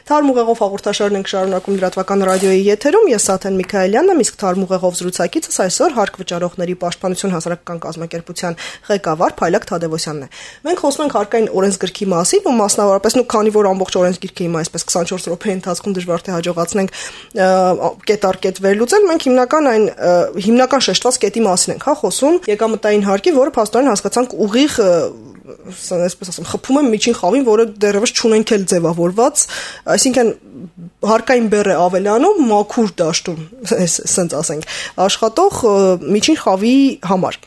Թարմ ուղեղով հաղորդաշարն ենք շարունակում լրատվական ռադիոյի եթերում։ Ես Սաթեն Միքայելյանն եմ, իսկ Թարմ ուղեղով զրուցակիցս այսօր Հարկ վճարողների պաշտպանություն հասարակական կազմակերպության ղեկավար Փայլակ Թադևոսյանն է։ Մենք խոսում ենք հարկային օրենսգրքի մասին ու մասնավորապես քանի որ ամբողջ օրենսգիրքը հիմա այսպես 24 րոպեի ընթացքում դժվար թե հաջողացնենք կետ առ կետ վերլուծել, մենք հիմնական շեշտված կետի մասին ենք խոսում եկամտային հարկի, որը փաստորեն հասկացանք ուղիղ այսպես ասեմ, խփում եմ միջին խավին, որը դեռևս չունենք էլ ձևավորված, այսինքն հարկային բեռ է ավելանում մաքուր դաշտում, ասենց ասենք, աշխատող միջին խավի համար։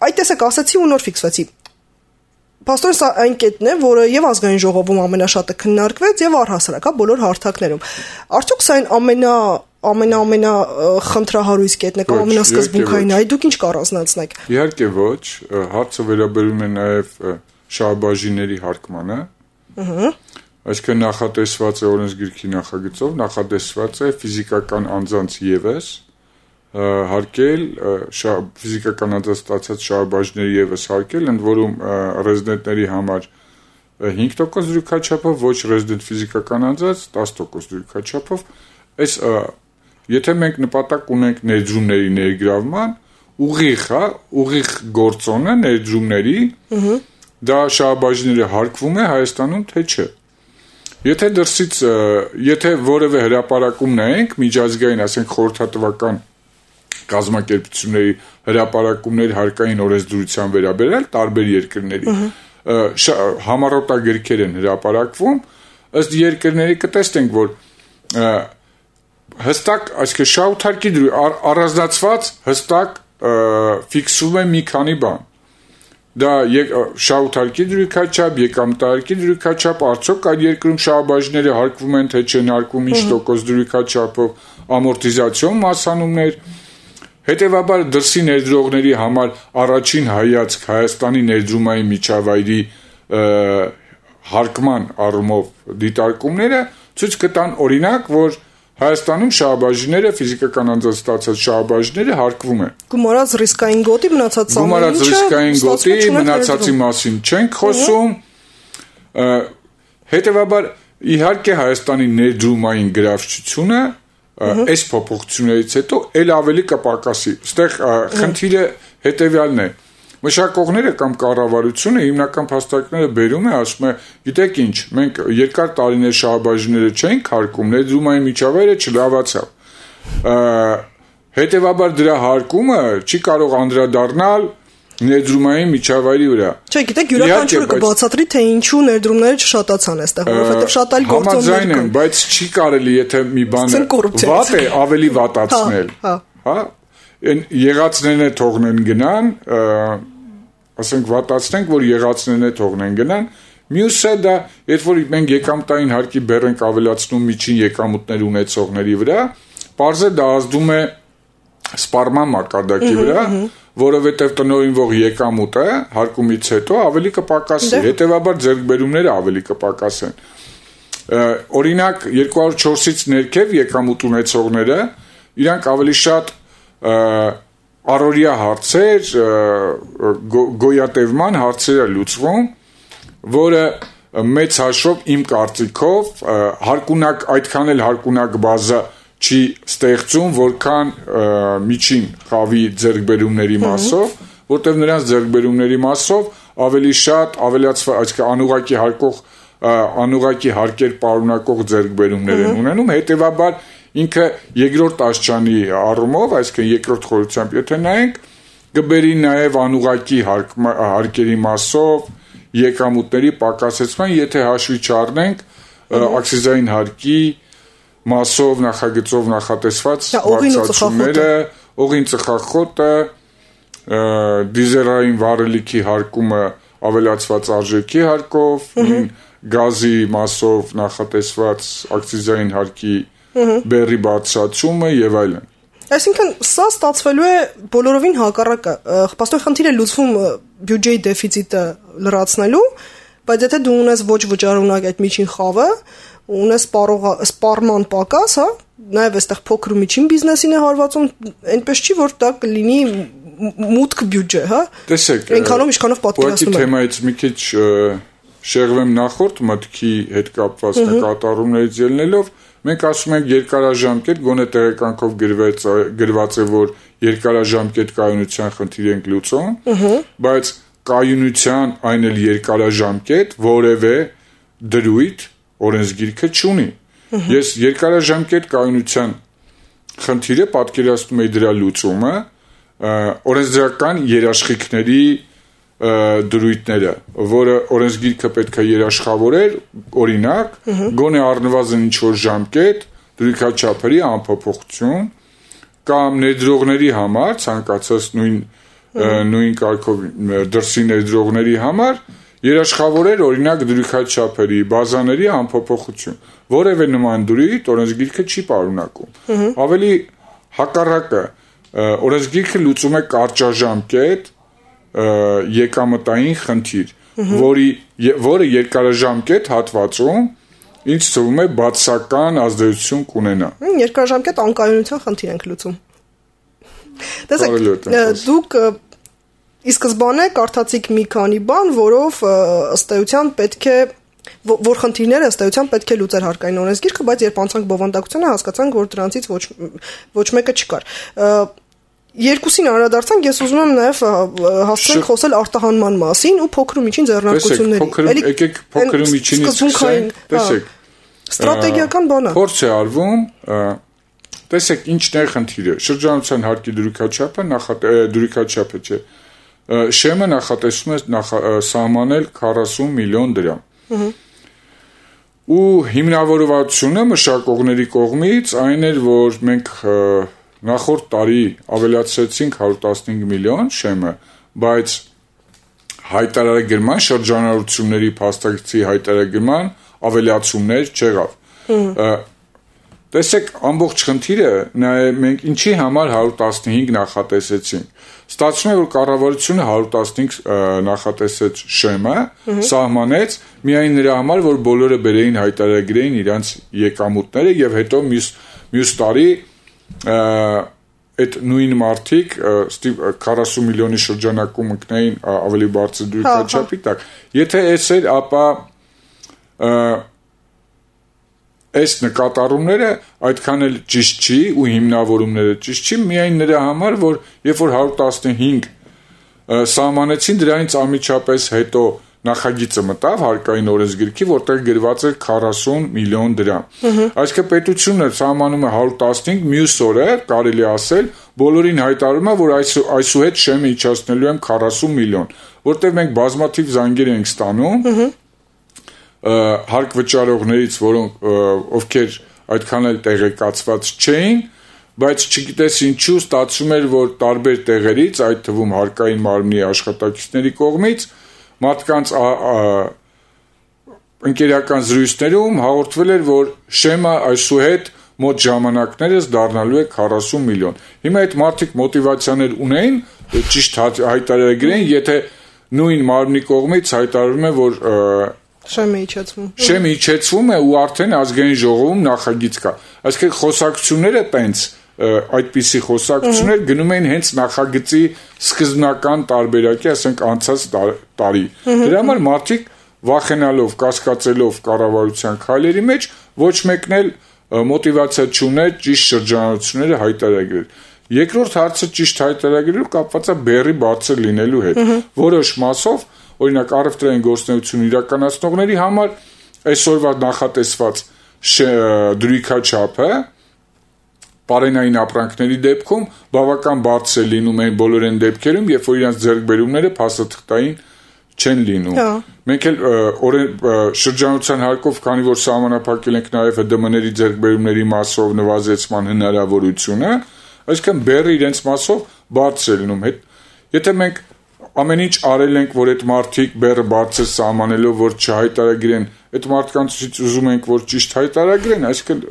Այդ տեսակ ասացի ու նոր ֆիքսվեցի։ Փաստորեն սա այն կետն է, որը եւ ազգային ժողովում ամենաշատը քննարկվեց եւ առհասարակ բոլոր հարթակներում։ Արդյոք սա ամենա խնդրահարույց կետն է կամ ամենասկզբունքային է, դուք ինչ կառանձնացնեք։ Իհարկե ոչ, հարցը վերաբերում է նաև շահբաժինների հարկմանը։ Այսինքն նախատեսված է օրենսգիրքի նախագծով, նախատեսված է ֆիզիկական անձանց ևս հարկել ֆիզիկական անձանց ստացած շահբաժինների ևս հարկել, ընդ որում ռեզիդենտների համար 5% դրույքաչափով, ոչ ռեզիդենտ ֆիզիկական անձանց 10% դրույքաչափով։ Այս եթե մենք նպատակ ունենք ներդրումների ներգրավման, ուղիղ գործոնը ներդրումների, դա շահբաժինները հարկվում է Հայաստանում, թե չէ։ Եթե որևէ հրապարակում նայենք, միջազգային, ասենք խորհրդատվական կազմակերպությունների հրապարակումներ հարկային օրենսդրության վերաբերյալ տարբեր երկրների համառոտագրքեր են հրապարակվում, ըստ երկրների կտեսնենք, որ հստակ, այսինքն շահութարկի առանձնացված հստակ ֆիքսվում է մի քանի բան։ Դա շահութարկի դրույքաչափ, եկամտահարկի դրույքաչափ, արդյոք այդ երկրում շահբաժինները հարկվում են, թե չեն հարկվում, ինչ տոկոս դրույքաչափով, ամորտիզացիոն մասանումներ։ Հետևաբար դրսի ներդրողների համար առաջին հայացք Հայաստանի ներդրումային միջավայրի հարկման առումով դիտարկումները ցույց կտան օրինակ, որ Հայաստանում շահբաժինները, ֆիզիկական անձանց ստացած շահբաժինները հարկվում են։ Գումարած ռիսկային գոտի մնացածի մասին չենք խոսում։ Հետևաբար իհարկե Հայաստանի ներդրումային գրավչությունը այս փոփոխություններից հետո ել ավելի կպակասի։ Այստեղ խնդիրը հետևյալն է։ Մշակողները կամ կառավարությունը հիմնական փաստարկները բերում է, ասում է, գիտեք ինչ, մենք երկար տարիներ շահբաժինները չենք հարկում, ներդրումային միջավայրը չլավացավ։ Հետևաբար դրա հարկումը չի կարող անդրադառնալ ներդրումային միջավայրի վրա։ Չէ, գիտեք, յուրաքանչյուրը կբացատրի, թե ինչու ներդրումները չշատացան այստեղ, որովհետև շատ այլ գործոններ կան։ Համաձայն եմ, բայց չի կարելի, եթե մի բանը վատ է, ավելի վատացնել։ Հա, եղածներն է թողնեն գնան, ասենք վատացնենք, որ եղածներն է թողնեն գնան, մյուսը դա, երբ որ մենք եկամտային հարկի բեռ ենք ավելացնում միջին եկամուտներ ունեցողների վրա, պարզը դա ազդում է սպառման մակարդակի վրա, որովհետև տնօրինվող եկամուտը հարկումից հետո ավելի կպակասի, հետևաբար ձեռքբերումները ավելի կպակասեն։ Օրինակ 204-ից ներքև եկամուտ ունեցողները իրանք ավելի շատ առօրյա հարցեր, գոյատևման հարցեր է լուծվում, որը մեծ հաշվով իմ կարծիքով այդքան էլ հարկունակ բազա չի ստեղծում, որքան միջին խավի ձեռքբերումների մասով, որտեղ նրանց ձեռքբերումների մասով ավելի շատ այսինքն անուղղակի հարկեր պարունակող ձեռքբերումներ են ունենում, հետևաբար ինքը երկրորդ աստիճանի առումով, այսինքն երկրորդ խորությամբ եթե նայենք, կբերի նաև անուղղակի հարկերի մասով եկամուտների պակասեցման, եթե հաշվի չառնենք աքցիզային հարկի մասով նախագծով նախատեսված բարձրացումները, օղին ծխախոտը, դիզելային վառելիքի հարկումը ավելացված արժեքի հարկով, գազի մասով նախատեսված աքցիզային հարկի բեռի բարձրացումը եւ այլն։ Այսինքն սա ստացվելու է բոլորովին հակառակը։ Պաստոր խնդիրը լուծվում բյուջեի դեֆիցիտը լրացնելու, բայց եթե դու ունես ոչ վճարունակ այդ միջին խավը, ունես սպառման պակաս, հա, նաև այստեղ փոքր ու միջին բիզնեսին է հարվածում, այնպես չի, որ դա կլինի մուտք բյուջե, հա։ Տեսեք, այնքանով ինչքանով պատկերացնում եմ։ Ուղղակի թեմայից մի քիչ շեղվեմ նախորդ մտքի հետ կապված նկատառումներից ելնելով, մենք ասում ենք երկարաժամկետ, գոնե տեղեկանքով գրված է, որ երկարաժամկետ կայունության խնդիր ենք լուծում, բայց կայունության այն էլ երկարաժամկետ որևէ դրույթ օրենսգիրքը չունի։ Ես երկարաժամկետ կայունության խնդիրը պատկերացնում եմ դրա լուծումը օրենսդրական երաշխիքների դրույթները, որը օրենսգիրքը պետք է երաշխավորեր, օրինակ, գոնե առնվազն ինչ-որ ժամկետ, դրույքաչափերի անփոփոխություն կամ ներդրողների համար, ցանկացած նույն կարգով դրսի ներդրողների համար երաշխավորեր օրինակ դրույքաչափերի, բազաների անփոփոխություն։ Որևէ նման դրույթ օրենսգիրքը չի պարունակում։ Ավելի հակառակը, օրենսգիրքը լուծում է կարճաժամկետ եկամտային խնդիր, որը երկարաժամկետ հատվածում ինչ թվում է բացասական ազդեցություն կունենա։ Երկարաժամկետ անկայունության խնդիր ենք լուծում։ Տեսեք, դուք ի սկզբանե կարդացիք մի քանի բան, որով ըստ էության պետք է որ խնդիրները ըստ էության պետք է լուծեր հարկային օրենսգիրքը, բայց երբ անցանք բովանդակությանը հասկացանք, որ դրանցից ոչ մեկը չկար։ Երկուսին անդրադարձանք, ես ուզում եմ նաև հասցնենք խոսել արտահանման մասին ու փոքր ու միջին ձեռնարկությունների։ Եկեք փոքր ու միջինից սկսենք, տեսեք։ Ստրատեգիական բան է։ Փորձ է արվում, տեսեք ինչն է խնդիրը։ Շրջանառության հարկի դրույքաչափը չէ։ Շեմը նախատեսում է սահմանել 40 միլիոն դրամ։ Ու հիմնավորվածությունը մշակողների կողմից այն էր, որ մենք նախորդ տարի ավելացրեցինք 115 միլիոն շեմը, բայց հայտարարագրման շրջանառությունների փաստարկի հայտարարագրման ավելացումներ չեղավ։ Տեսեք, ամբողջ խնդիրը մենք ինչի համար 115 նախատեսեցինք։ Ստացվում է, որ կառավարությունը 115 նախատեսեց շեմը, սահմանեց միայն նրա համար, որ բոլորը բերեին հայտարարագրեին իրանց եկամուտները եւ հետո մյուս տարի այդ նույն մարդիկ 40 միլիոնի շրջանակում ընկնեին ավելի բարձր դրույքաչափի տակ։ Եթե այս էր, ապա այս նկատառումները այդքան էլ ճիշտ չի ու հիմնավորումները ճիշտ չի միայն նրա համար, որ երբ որ 115 սահմանեցին, դրանից անմիջապես հետո նախագիծը մտավ հարկային օրենսգիրքի, որտեղ գրված էր 40 միլիոն դրամ։ Այսինքն պետությունը սահմանում է 115, մյուս օրը կարելի ասել բոլորին հայտարարում է, որ այսուհետ շեմը իջացնելու եմ 40 միլիոն, որտեղ մենք բազմաթիվ զանգեր ենք ստանում հարկ վճարողներից, ովքեր այդքան էլ տեղեկացված չէին, բայց չգիտես ինչու ստացվում էր, որ տարբեր տեղերից, այդ թվում հարկային մարմնի աշխատակիցների կողմից մարդկանց ընկերական զրույցներում հաղորդվել էր, որ շեմը այսուհետ մոտ ժամանակներս դառնալու է 40 միլիոն։ Հիմա այդ մարդիկ մոտիվացիաներ ունեին, ճիշտ հայտարարագրեն, եթե նույն մարմնի կողմից հայտարարում է, որ Շեմը իջեցվում է ու արդեն ազգային ժողովում նախագիծ կա։ Այսինքն խոսակցությունները տենց այդպիսի խոսակցություններ գնում էին հենց նախագծի սկզբնական տարբերակի, ասենք անցած տարի։ Դրա համար մարդիկ վախենալով, կասկածելով կառավարության քայլերի մեջ ոչ մեկն էլ մոտիվացիա չուներ ճիշտ շրջանառությունները հայտարարել։ Երկրորդ հարցը ճիշտ հայտարարելու կապված է բեռի բարձր լինելու հետ։ Որոշ մասով օրինակ առևտրային գործունեություն իրականացնողների համար այսօրվա նախատեսված դրույքաչափը պարենային ապրանքների դեպքում բավական բարձր լինում է բոլոր այն դեպքերում, երբ որ իրենց ձեռքբերումները փաստաթղթային չեն լինում։ Մենք էլ շրջանառության հարկով, քանի որ սահմանափակել ենք նաև ՀԴՄ-ների ձեռքբերումների մասով նվազեցման հնարավորությունը, այսինքն բեռը իրենց մասով բարձր է լինում։ Եթե մենք ամեն ինչ արել ենք, որ այդ մարդիկ բեռը բարձր սահմանելով, որ չհայտարարեն, այդ մարդկանցից ուզում ենք, որ ճիշտ հայտարարեն, այսինքն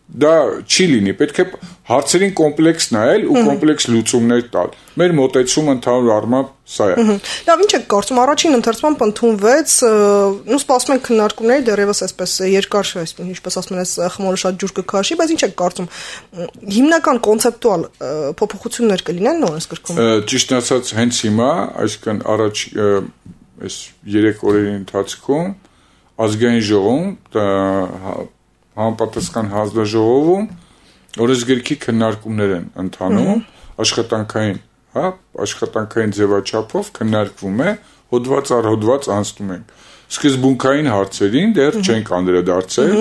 դա չի լինի, պետք է հարցերին կոմպլեքս նայել ու կոմպլեքս լուծումներ տալ։ Մեր մոտեցումը ընդհանուր առմամբ սա է։ Լավ, ինչ եք կարծում, առաջին ընթերցմամբ ընդունվեց, սպասում ենք քննարկումների դեռևս այսպես երկար, ինչպես ասում են, խմորը շատ ջուր կքաշի, բայց ինչ եք կարծում, հիմնական կոնցեպտուալ փոփոխություններ կլինեն օրենսգրքում։ Ճիշտ ասած, հենց հիմա, այսինքն առաջ այս 3 օրերի ընթացքում ազգային ժողովում, համապատասխան հանձնաժողովում օրենսգրքի քննարկումներ են ընթանում, աշխատանքային ձևաչափով քննարկվում է, հոդված առ հոդված անցնում ենք։ Սկզբունքային հարցերին դեռ չենք անդրադարձել,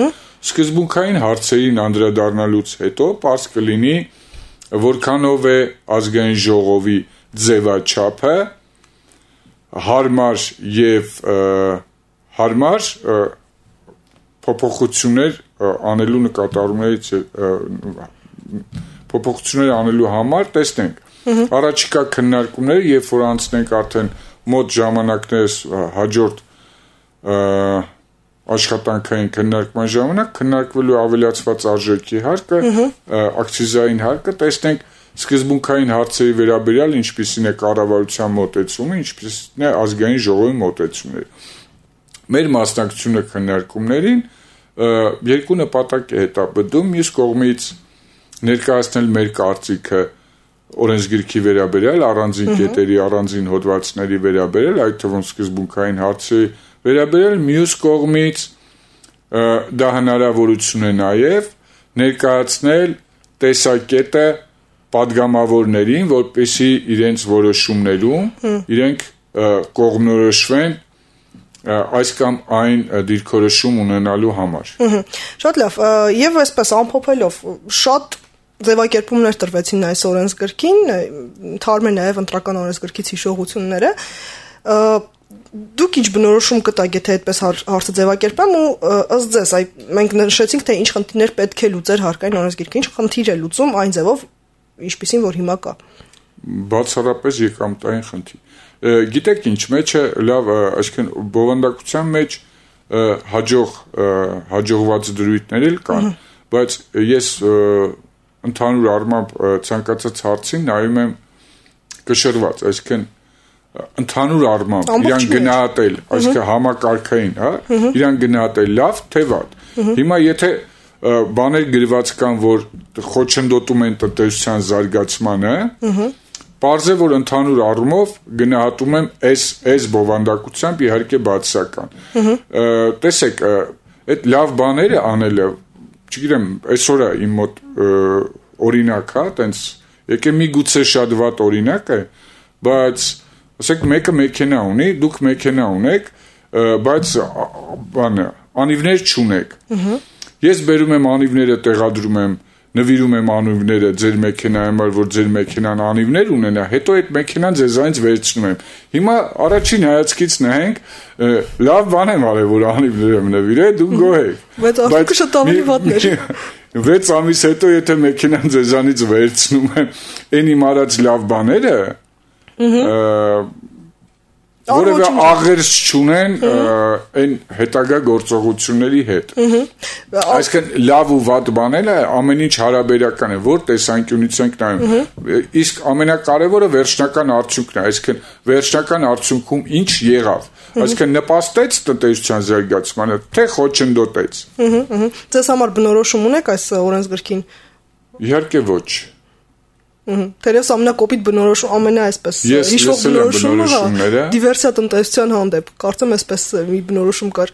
սկզբունքային հարցերին անդրադառնալուց հետո պարզ կլինի, որքանով է ազգային ժողովի ձևաչափը հարմար եւ հարմար փոփոխություններ անելու նկատառումներից փոփոխություններ անելու համար տեսնենք առաջիկա քննարկումները, երբ որ անցնենք արդեն մոտ ժամանակներս հաջորդ աշխատանքային քննարկման ժամանակ քննարկվելու ավելացված արժեքի հարկը, ակցիզային հարկը, տեսնենք սկզբունքային հարցերի վերաբերյալ ինչպիսին է կառավարության մոտեցումը, ինչպիսին է ազգային ժողովի մոտեցումները։ Մեր մասնակցությունը քննարկումներին երկու նպատակ է հետապնդում, մյուս կողմից ներկայացնել մեր կարծիքը օրենսգրքի վերաբերյալ, առանձին կետերի, առանձին հոդվածների վերաբերյալ, այդ թվում սկզբունքային հարցերի վերաբերյալ, մյուս կողմից դա հնարավորություն է նաև ներկայացնել տեսակետը պատգամավորներին, որպեսզի իրենց որոշումներում իրենք կողմնորոշվեն այս կամ այն դիրքորոշում ունենալու համար։ Շատ լավ, եւ այսպես ամփոփելով, շատ ձևակերպումներ տրվեցին այս օրենսգրքին, թարմ է նաև ընտրական օրենսգրքից հիշողությունները։ Դուք ինչ բնորոշում կտաք, եթե այդպես հարցը ձևակերպեմ, ու ըստ ձեզ, մենք նշեցինք, թե ինչ խնդիրներ պետք է լուծեր հարկային օրենսգիրքը, ինչ խնդիր է լուծում այն ձևով, ինչպիսին որ հիմա կա։ Բացառապես եկամտային խնդիր։ Գիտեք ինչ, մեջը լավ, այսինքն բովանդակության մեջ հաջողված դրույթներ էլ կան, բայց ես ընդհանուր առմամբ ցանկացած հարցին նայում եմ կշռված, այսինքն ընդհանուր առմամբ իրան գնահատել, այսինքն համակարգային, իրան գնահատել լավ, թե վատ։ Հիմա եթե բաներ գրված կան, որ խոչընդոտում են տնտեսության զարգացմանը, պարզ է, որ ընդհանուր առումով գնահատում եմ այս բովանդակությամբ իհարկե բացասական։ Տեսեք, այդ լավ բաները անելը, չգիտեմ, այսօր է իմ մոտ օրինակ, տենց, եկե միգուցե շատ վատ օրինակ է, բայց ասեք մեկը մեքենա ունի, դուք մեքենա ունեք, բայց անիվներ չունեք։ Ես բերում եմ անիվները, տեղադրում եմ, նվիրում եմ անիվները ձեր մեքենայի համար, որ ձեր մեքենան անիվներ ունենա, հետո այդ մեքենան ձեզանից վերցնում եմ։ Հիմա առաջին հայացքից նայենք, լավ բան եմ արել, որ անիվներ եմ նվիրել, դու գոհ եք։ Բայց արդյոք շատ ավելի վատն էր։ 6 ամիս հետո եթե մեքենան ձեզանից վերցնում եմ, այն իմ արած լավ բաները, որևէ աղերս չունեն այն հետագա գործողությունների հետ։ Այսինքն լավ ու վատ բաները ամեն ինչ հարաբերական է, որ տեսանկյունից ենք նայում։ Իսկ ամենակարևորը վերջնական արդյունքն է, այսինքն վերջնական արդյունքում ինչ եղավ։ Այսինքն նպաստեց տնտեսության զարգացմանը, թե խոչընդոտեց։ Ձեզ համար բնորոշում ունեք այս օրենսգրքին։ Իհարկե ոչ։ Թերևս ամենակոպիտ բնորոշում ամենաայսպես հիշվող բնորոշումը դիվերսիա տնտեսության հանդեպ, կարծեմ այսպես մի բնորոշում կար։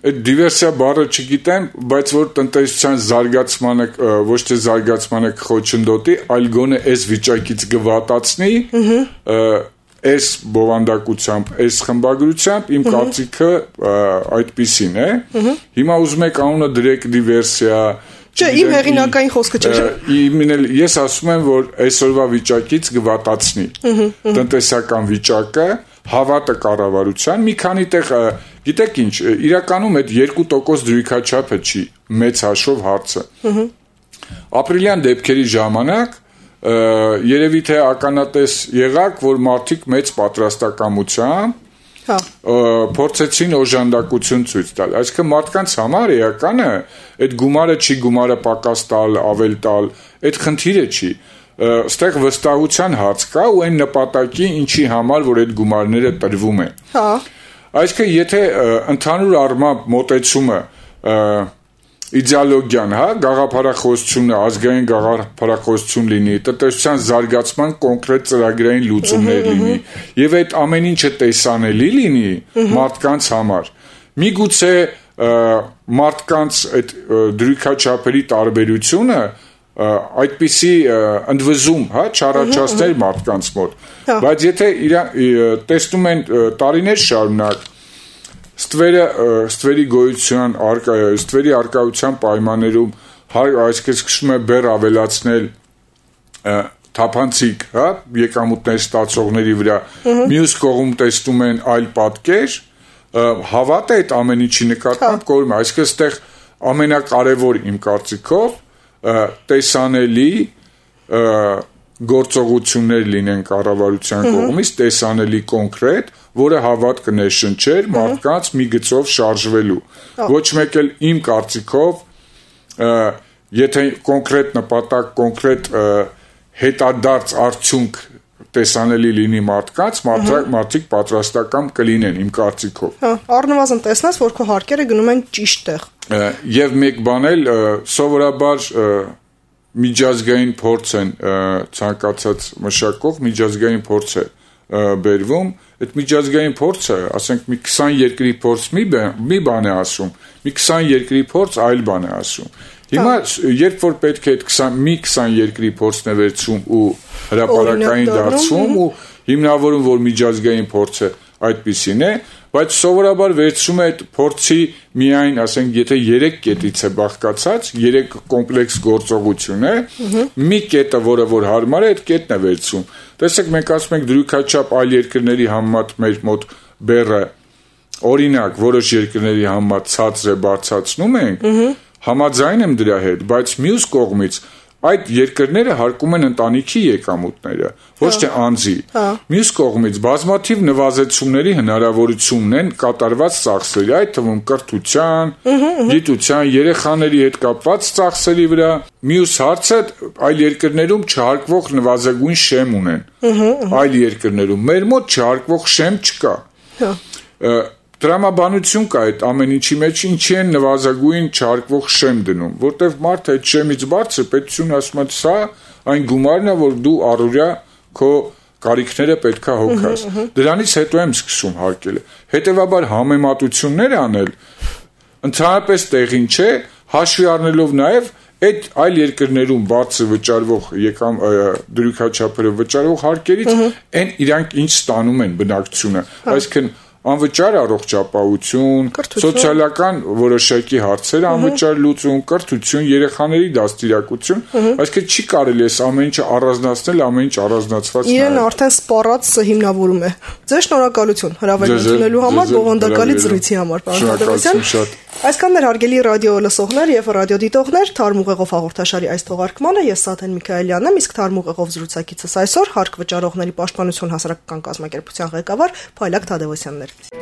Այդ դիվերսիա բառը չգիտեմ, բայց որ տնտեսության զարգացմանը ոչ թե զարգացմանը խոչընդոտի, այլ գոնե այս վիճակից գվատացնի, այս բովանդակությամբ, այս խմբագրությամբ իմ կարծիքը այդպիսին է։ Հիմա ուզում եք անունը դրեք դիվերսիա, Չէ, իմ հեղինակային խոսքը չէ։ Ես ասում եմ, որ այսօրվա վիճակից գվատացնի տնտեսական վիճակը, հավատը կառավարության, մի քանի տեղ, գիտեք ինչ, իրականում այդ 2% դրույքաչափը չի մեծ հաշվով հարցը։ Ապրիլյան դեպքերի ժամանակ երևի թե ականատես եղաք, որ մարդիկ մեծ պատրաստակամությամբ փորձեցին օժանդակություն ցույց տալ։ Այսինքն մարդկանց համար էականը այդ գումարը չի, գումարը պակաս տալ, ավել տալ, այդ խնդիրը չի։ Այստեղ վստահության հարց կա ու այն նպատակի ինչի համար, որ այդ գումարները տրվում են։ Այսինքն եթե ընդհանուր առմամբ մոտեցումը իդեոլոգիան, հա, գաղափարախոսությունը, ազգային գաղափարախոսություն լինի, տնտեսության զարգացման կոնկրետ ծրագրային լուծումներ լինի, եւ այդ ամեն ինչը տեսանելի լինի մարդկանց համար։ Միգուցե մարդկանց այդ դրույքաչափերի տարբերությունը այդպիսի ընդվզում, հա, չառաջացներ մարդկանց մոտ, բայց եթե տեսնում են տարիներ շարունակ ստվերի գոյության ստվերի արկայության պայմաններում այսպես սկսում է բեռ ավելացնել թափանցիկ, հա, եկամուտներ ստացողների վրա, մյուս կողմ տեսնում են այլ պատկեր, հավատը այդ ամեն ինչի նկատմամբ կորում է, այսինքն այստեղ ամենակարևոր իմ կարծիքով տեսանելի գործողություններ լինեն կառավարության կողմից, տեսանելի կոնկրետ, որը հավատ կներշնչեր մարդկանց մի գծով շարժվելու։ Ոչ մեկ էլ իմ կարծիքով, եթե կոնկրետ նպատակ, կոնկրետ հետադարձ արդյունք տեսանելի լինի մարդկանց, մարդիկ պատրաստական կլինեն իմ կարծիքով։ Առնվազն տեսնես, որ քո հարկերը գնում են ճիշտ տեղ։ Եվ մեկ բան էլ սովորաբար միջազգային փորձ են ցանկացած մշակող միջազգային փորձ է բերվում, այդ միջազգային փորձը, ասենք մի 20 երկրի փորձ մի բան է ասում, մի 20 երկրի փորձ այլ բան է ասում։ Հիմա երբ որ պետք է այդ 20 երկրի փորձն է վերցում ու հրապարակային դարձում ու հիմնավորում, որ միջազգային փորձը այդպիսին է, բայց սովորաբար վերցում է այդ փորձի միայն, ասենք, եթե 3 կետից է բաղկացած, 3 կոմպլեքս գործողություն է, մի կետը, որը որ հարմար է, այդ կետն է վերցում։ Տեսեք, մենք ասում ենք դրույքաչափ այլ երկրների համեմատ մեր մոտ բեռը, օրինակ, որոշ երկրների համեմատ ցածր է բարձրացնում ենք, համաձայն եմ դրա հետ, բայց մյուս կողմից այդ երկրները հարկում են ընտանիքի եկամուտները, ոչ թե անձի։ Մյուս կողմից բազմաթիվ նվազեցումների հնարավորությունն են կատարված ծախսերի, այդ թվում կրթության, գիտության, երեխաների հետ կապված ծախսերի վրա։ Մյուս հարցը այլ երկրներում չհարկվող նվազագույն շեմ ունեն։ Այլ երկրներում մեր մոտ չհարկվող շեմ չկա։ Տրամաբանություն կա այդ ամեն ինչի մեջ, ինչի են նվազագույն չհարկվող շեմ դնում, որտեվ մարդը այդ շեմից բարձր պետությունը ասում է, սա այն գումարն է, որ դու առօրյա քո կարիքները պետքա հոգաս։ Դրանից հետո եմ սկսում հարկելը։ Հետևաբար համեմատություններ անել ընդհանրապես տեղին չէ, հաշվի առնելով նաև այդ այլ երկրներում բարձր վճարվող դրույքաչափերը վճարվող հարկերից այն իրանք ինչ ստանում են բնակչությունը, այսինքն անվճար առողջապահություն, սոցիալական որոշակի հարցեր անվճար լուծում, կրթություն, երեխաների դաստիարակություն, այսինքն չի կարելի այս ամեն ինչը առանձնացնել, ամեն ինչ առանձնացված նայել։ Իրեն արդեն սպառած հիմնավորում է։ Ձեզ շնորհակալություն հրավեր ընդունելու համար, բովանդակալի զրույցի համար, պարոն Թադևոսյան։ Այսքանն էր հարգելի ռադիո լսողներ եւ ռադիոդիտողներ, Թարմ ուղեղով հաղորդաշարի այս թողարկմանը ես Սաթեն Միքայելյանն եմ, իսկ Թարմ ուղեղով զրուցակիցս այսօր հարկ վճարողների պաշտպանություն հասարակական կազմակերպության ղեկավար Փայլակ Թադևոսյանն էր։